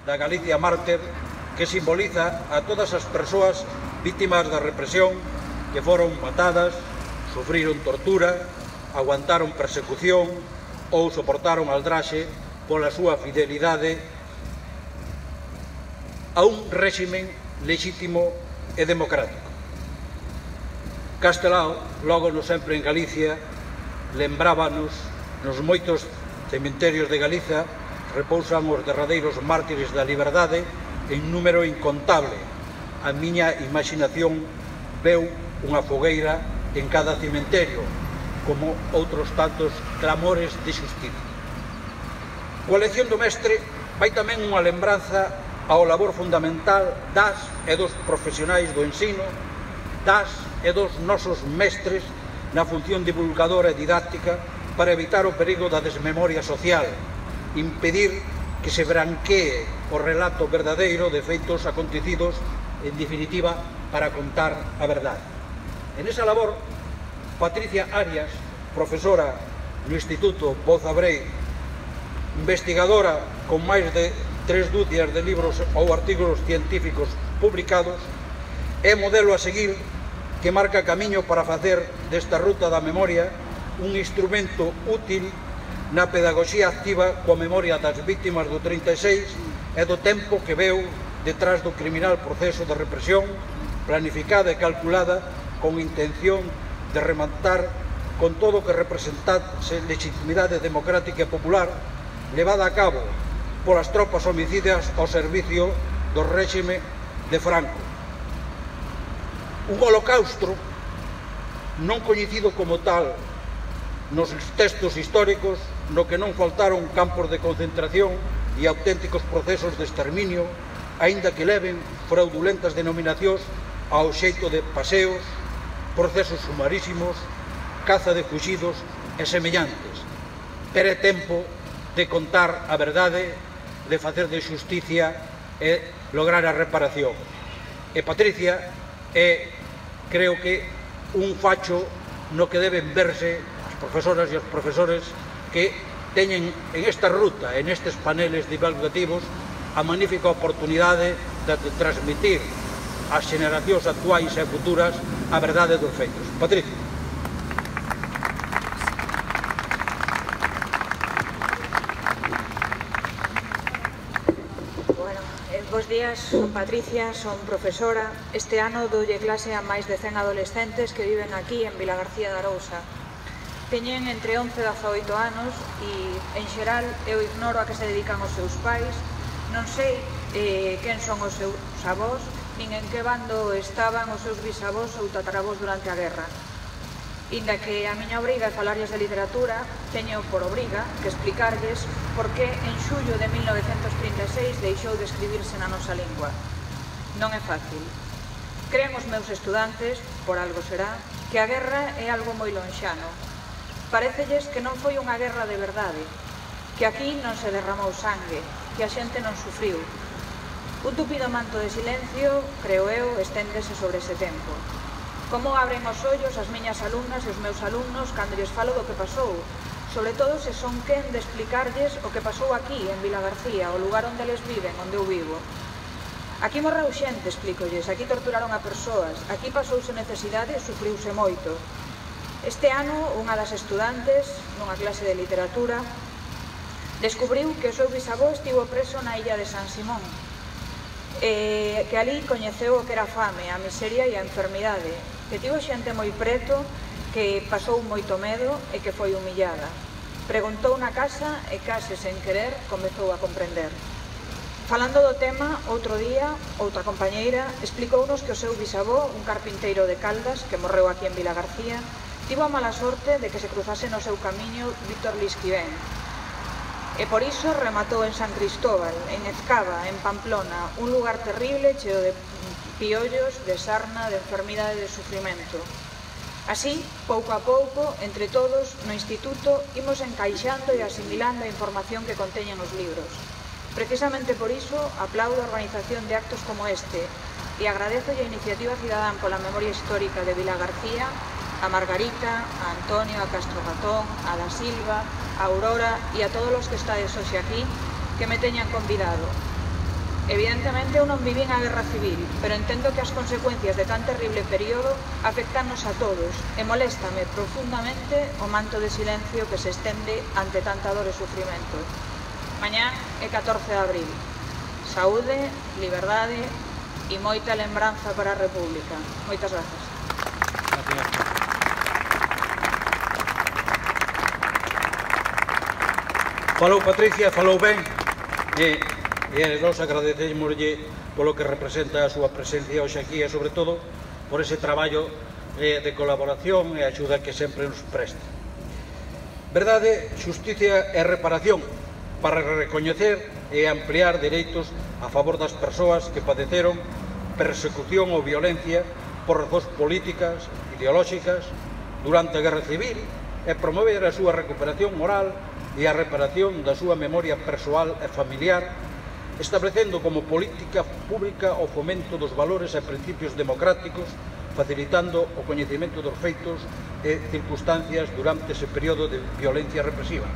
da Galicia mártir que simboliza a todas as persoas vítimas da represión que foron matadas, sufriron tortura, aguantaron persecución ou soportaron aldraxe pola súa fidelidade a un réximen lexítimo e democrático. Castelao, logo no sempre en Galicia, lembrábanos nos moitos cementerios de Galiza repousan os derradeiros mártires da liberdade en número incontable. A miña imaginación veu unha fogueira en cada cementerio, como outros tantos clamores de xustiza. Coa lección do mestre vai tamén unha lembranza ao labor fundamental das e dos profesionais do ensino, das e dos nosos mestres na función divulgadora e didáctica para evitar o perigo da desmemoria social, impedir que se branquee o relato verdadeiro de feitos acontecidos, en definitiva, para contar a verdade. En esa labor, Patricia Arias, profesora no Instituto Boza Brei, investigadora con máis de 3 dúcias de libros ou artigos científicos publicados, é modelo a seguir que marca camiño para facer desta ruta da memoria un instrumento útil na pedagogía activa coa memoria das vítimas do 36 e do tempo que veu detrás do criminal proceso de represión planificada e calculada con intención de rematar con todo o que representase legitimidade democrática e popular levada a cabo polas tropas homicidas ao servicio do réxime de Franco. Un holocausto non coñecido como tal nos textos históricos, no que non faltaron campos de concentración e auténticos procesos de exterminio, aínda que leven fraudulentas denominacións ao xeito de paseos, procesos sumarísimos, caza de fuxidos e semellantes. Pero é tempo de contar a verdade, de facer de xusticia e lograr a reparación. E Patricia é, creo que, un facho no que deben verse as profesoras e os profesores que teñen en esta ruta, en estes paneles divulgativos, a magnífica oportunidade de transmitir ás xeracións actuais e futuras a verdade dos feitos. Patricia. Bos días, son Patricia, son profesora. Este ano doulle clase a máis de 100 adolescentes que viven aquí en Vilagarcía de Arousa. Teñen entre 11 e 18 anos e, en xeral, eu ignoro a que se dedican os seus pais, non sei quen son os seus avós, nin en que bando estaban os seus bisavós ou tataravós durante a guerra. Inda que a miña obriga é falarles de literatura, teño por obriga que explicarlles por que en xullo de 1936 deixou de escribirse na nosa lingua. Non é fácil. Creen os meus estudantes, por algo será, que a guerra é algo moi lonxano. Parécelles que non foi unha guerra de verdade, que aquí non se derramou sangue, que a xente non sufriu. Un tupido manto de silencio, creo eu, esténdese sobre ese tempo. Como abren os ollos as miñas alumnas e os meus alumnos cando lles falo do que pasou, sobre todo se son quen de explicarlles o que pasou aquí, en Vilagarcía, o lugar onde eles viven, onde eu vivo. Aquí morreu xente, explícolles, aquí torturaron a persoas, aquí pasouse necesidade e sufriuse moito. Este ano, unha das estudantes, nunha clase de literatura, descubriu que o seu bisavó estivo preso na illa de San Simón, que ali coñeceu o que era a fame, a miseria e a enfermidade, que tivo xente moi preto, que pasou moito medo e que foi humillada. Preguntou na casa e case sen querer comezou a comprender. Falando do tema, outro día, outra compañeira explicounos que o seu bisavó, un carpinteiro de Caldas, que morreu aquí en Vilagarcía, tivo a mala sorte de que se cruzase no seu camiño Víctor Lisquivén. E por iso rematou en San Cristóbal, en Ezcaba, en Pamplona, un lugar terrible, cheo de piollos, de sarna, de enfermidade e de sufrimento. Así, pouco a pouco, entre todos, no instituto, imos encaixando e asimilando a información que conteñen os libros. Precisamente por iso, aplaudo a organización de actos como este e agradezo a Iniciativa Cidadán pola Memoria Histórica de Vilagarcía, a Margarita, a Antonio, a Castro Gatón, a Da Silva, a Aurora e a todos os que estades hoxe aquí que me teñan convidado. Evidentemente eu non vivín a guerra civil, pero entendo que as consecuencias de tan terrible período afectannos a todos e moléstame profundamente o manto de silencio que se estende ante tanta dor e sufrimento. Mañá é 14 de abril. Saúde, liberdade e moita lembranza para a República. Moitas grazas. Falou Patricia, falou ben, e nós agradecémoslle polo que representa a súa presencia hoxe aquí e, sobre todo, por ese traballo de colaboración e axuda que sempre nos presta. Verdade, xusticia e reparación para recoñecer e ampliar dereitos a favor das persoas que padeceron persecución ou violencia por razóns políticas, ideolóxicas, durante a Guerra Civil e promover a súa recuperación moral e a reparación da súa memoria persoal e familiar, establecendo como política pública o fomento dos valores e principios democráticos, facilitando o coñecemento dos feitos e circunstancias durante ese período de violencia represiva.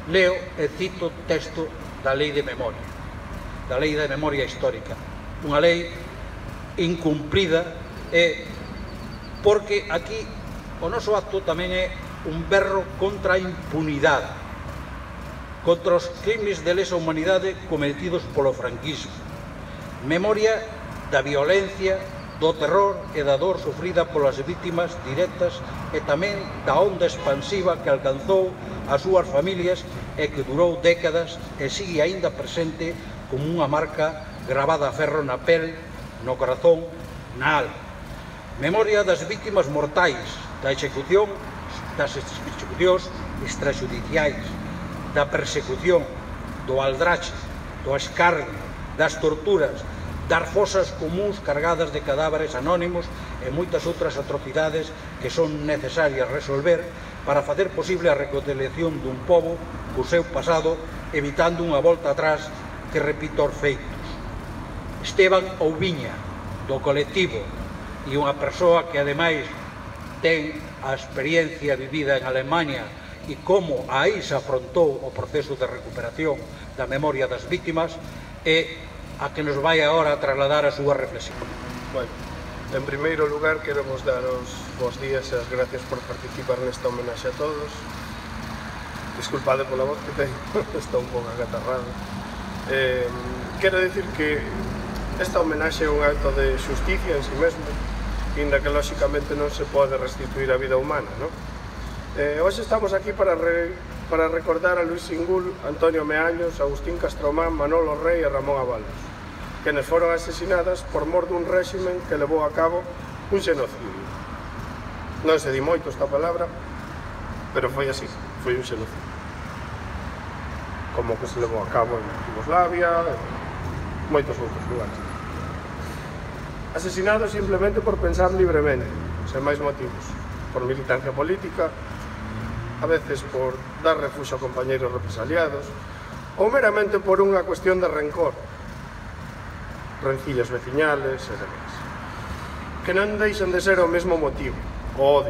Leo e cito texto da Lei de Memoria, da Lei de Memoria Histórica, unha lei incumprida, porque aquí o noso acto tamén é un berro contra a impunidade, contra os crimes de lesa humanidade cometidos polo franquismo, memoria da violencia, do terror e da dor sufrida polas vítimas directas e tamén da onda expansiva que alcanzou as súas familias e que durou décadas e sigue aínda presente como unha marca gravada a ferro na pel, no corazón, na alma. Memoria das vítimas mortais, das execucións extrajudiciais, da persecución, do aldrache, do escarnio, das torturas, das fosas comuns cargadas de cadáveres anónimos e moitas outras atrocidades que son necesarias resolver para facer posible a reconciliación dun pobo co seu pasado, evitando unha volta atrás que repita os feitos. Esteban Ouviña, do colectivo, e unha persoa que ademais ten a experiencia vivida en Alemania e como aí se afrontou o proceso de recuperación da memoria das vítimas, e a que nos vai agora a trasladar a súa reflexión. Bueno, en primeiro lugar, queremos daros bons días e as gracias por participar nesta homenaxe a todos. Disculpade pola voz que teño, está un pouco acatarrado. Quero dicir que esta homenaxe é un acto de xusticia en si mesmo, inda que lóxicamente non se pode restituir a vida humana, non? Hoxe estamos aquí para recordar a Luis Singul, Antonio Meaños, Agustín Castromán, Manolo Rey e Ramón Abalos, quenes foron asesinadas por mor dun réximen que levou a cabo un xenocidio. Non se di moito esta palabra, pero foi así, foi un xenocidio. Como que se levou a cabo en Yugoslavia e moitos outros lugares. Asesinados simplemente por pensar libremente, sen máis motivos, por militancia política, a veces por dar refuxo a compañeiros represaliados, ou meramente por unha cuestión de rencor, rencillas veciñales e demais, que non deixan de ser o mesmo motivo, o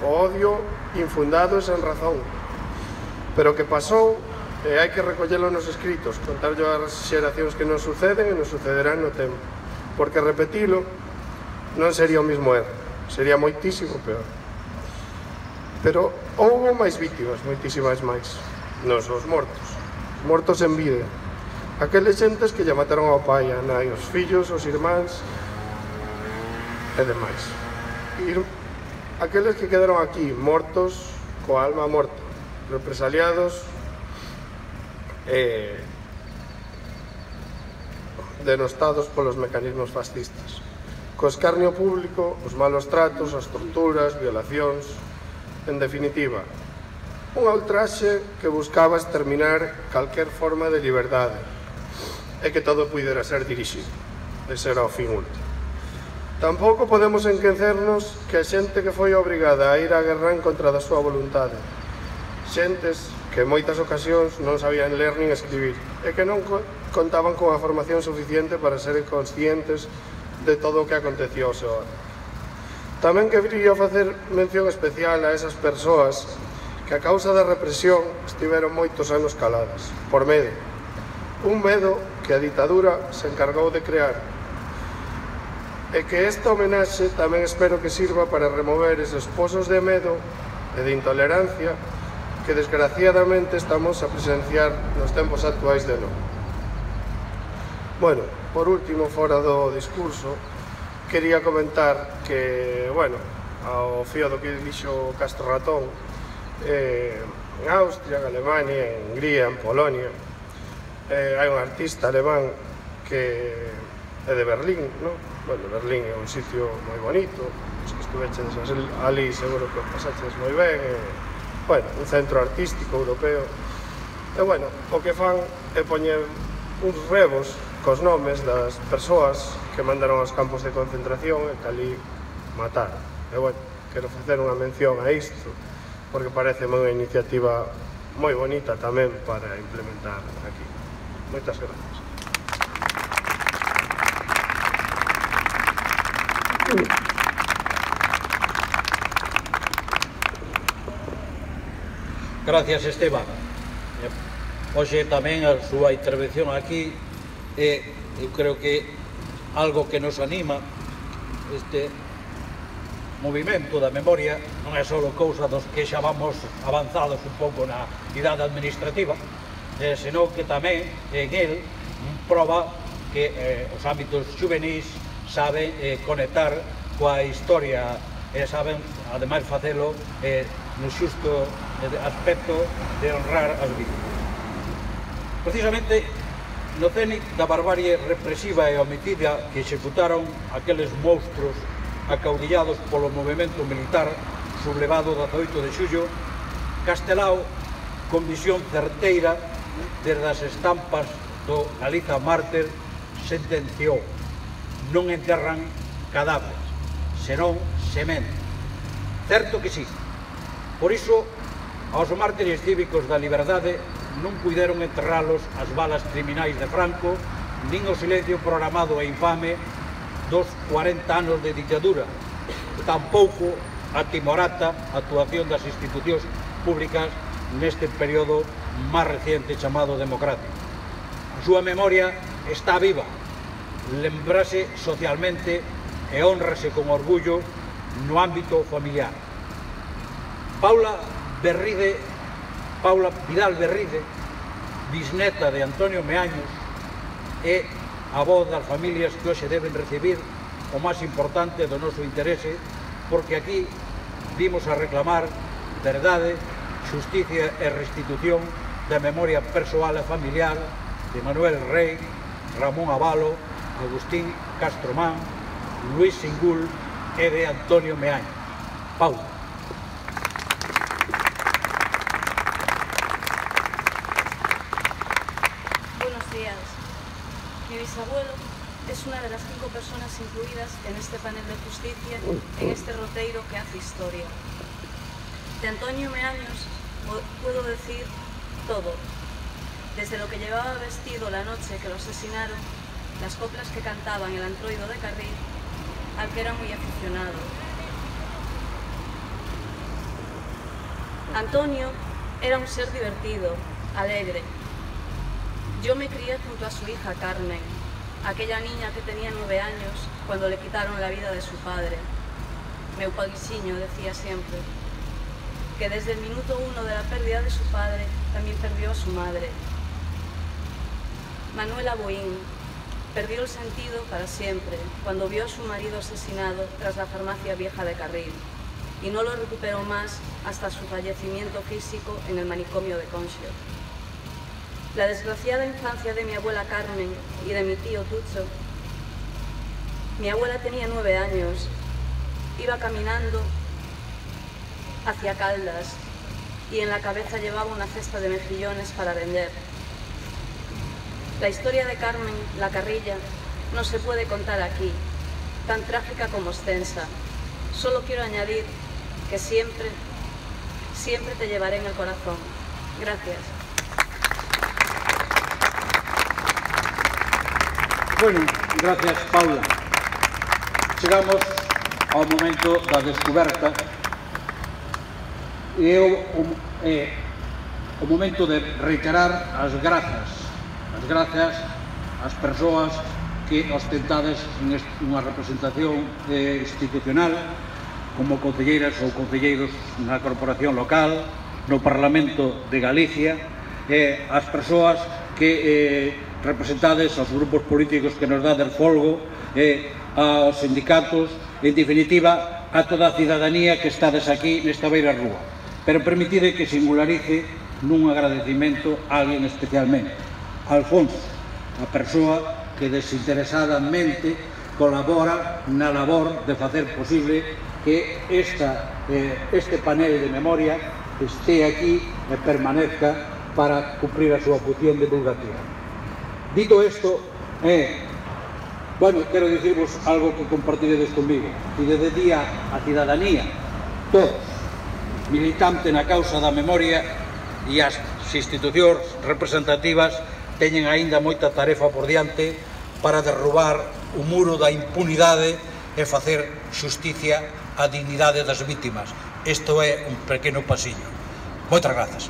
odio infundado e sen razón, pero que pasou e hai que recollelo nos escritos, contarlo ás xeracións que nos suceden e nos sucederán no tempo, porque repetilo non sería o mismo erro, sería moitísimo peor. Pero houbo máis vítimas, moitísimas máis, non só os mortos en vida, aqueles xentes que lle mataron ao pai, a nai, os fillos, os irmáns e demais. Aqueles que quedaron aquí, mortos, coa alma morta, represaliados e denostados polos mecanismos fascistas, co escarnio público, os malos tratos, as torturas, violacións. En definitiva, unha ultraxe que buscaba exterminar calquer forma de liberdade e que todo pudera ser dirixido. Ese era o fin último. Tampouco podemos enquecernos que a xente que foi obrigada a ir á guerra en contra da súa voluntade, xentes que en moitas ocasións non sabían ler nin escribir e que non contaban con a formación suficiente para ser conscientes de todo o que acontecía ao seu lado. Tamén quería facer mención especial a esas persoas que a causa da represión estiveron moitos anos caladas, por medo. Un medo que a ditadura se encargou de crear. E que esta homenaxe tamén espero que sirva para remover eses pozos de medo e de intolerancia que desgraciadamente estamos a presenciar nos tempos actuais de novo. Bueno, por último, fora do discurso, quería comentar que, bueno, ao fío do que dixo Castro Ratón, en Austria, en Alemania, en Hungría, en Polonia, hai un artista alemán que é de Berlín, non? Bueno, Berlín é un sitio moi bonito, os que estuveches ali seguro que o pasaches moi ben, bueno, un centro artístico europeo. E, bueno, o que fan é poñer uns rebos cos nomes das persoas que mandaron aos campos de concentración e que ali mataron. E, bueno, quero facer unha mención a isto, porque parece unha iniciativa moi bonita tamén para implementar aquí. Moitas gracias. Gracias, Esteban. Hoxe tamén a súa intervención aquí eu creo que algo que nos anima este movimento da memoria non é só cousa dos que xa vamos avanzados un pouco na idade administrativa, senón que tamén en el proba que os ámbitos juvenis saben conectar coa historia e saben, ademais, facelo no xusto aspecto de honrar as vítimas. Precisamente no cénit da barbarie represiva e homicida que executaron aqueles monstruos acaudillados polo movimento militar sublevado 18 de xullo, Castelao, con visión certeira desde as estampas do Galiza mártir, sentenciou: non enterran cadáveres, senón semente. Certo que sí. Por iso, aos mártires cívicos da liberdade non puideron enterralos as balas criminais de Franco, nin o silencio programado e infame dos 40 anos de ditadura, tampouco a timorata actuación das institucións públicas neste período máis reciente chamado democrático. A súa memoria está viva, lembrase socialmente e honrase con orgullo no ámbito familiar. Paula Vidal Berride, bisneta de Antonio Meaños, é a voz das familias que hoxe deben recibir o máis importante do noso interese, porque aquí vimos a reclamar verdade, xusticia e restitución da memoria persoal e familiar de Manuel Rey, Ramón Avalo, Agustín Castromán, Luis Singul e de Antonio Meaños. Paula. Mi bisabuelo es una de las 5 personas incluidas en este panel de justicia, en este roteiro que hace historia. De Antonio Meaños puedo decir todo, desde lo que llevaba vestido la noche que lo asesinaron, las coplas que cantaba en el antroido de Carril, al que era muy aficionado. Antonio era un ser divertido, alegre. Yo me crié junto a su hija Carmen, aquella niña que tenía 9 años cuando le quitaron la vida de su padre. Meu paguixiño decía siempre que desde el minuto 1 de la pérdida de su padre también perdió a su madre. Manuela Boín perdió el sentido para siempre cuando vio a su marido asesinado tras la farmacia vieja de Carril y no lo recuperó más hasta su fallecimiento físico en el manicomio de Conxo. La desgraciada infancia de mi abuela Carmen y de mi tío Tucho. Mi abuela tenía 9 años, iba caminando hacia Caldas y en la cabeza llevaba una cesta de mejillones para vender. La historia de Carmen, la Carrilla, no se puede contar aquí, tan trágica como extensa. Solo quiero añadir que siempre, siempre te llevaré en el corazón. Gracias. Bueno, gracias, Paula. Chegamos ao momento da descoberta e o momento de reiterar as grazas as persoas que ostentades unha representación institucional como concelleiras ou concelleiros na corporación local, no Parlamento de Galicia, as persoas que representades aos grupos políticos que nos dades folgo, aos sindicatos, en definitiva, a toda a cidadanía que estades aquí nesta beira rúa. Pero permitide que singularice nun agradecimento a alguén especialmente, Alfonso, a persoa que desinteresadamente colabora na labor de facer posible que este panel de memoria este aquí e permanezca para cumprir a súa función divulgativa. Dito isto, quero dicirvos algo que compartiredes comigo. E desde día a cidadanía, todos, militante na causa da memoria e as institucións representativas teñen aínda moita tarefa por diante para derrubar o muro da impunidade e facer xusticia á dignidade das vítimas. Isto é un pequeno pasiño. Moitas grazas.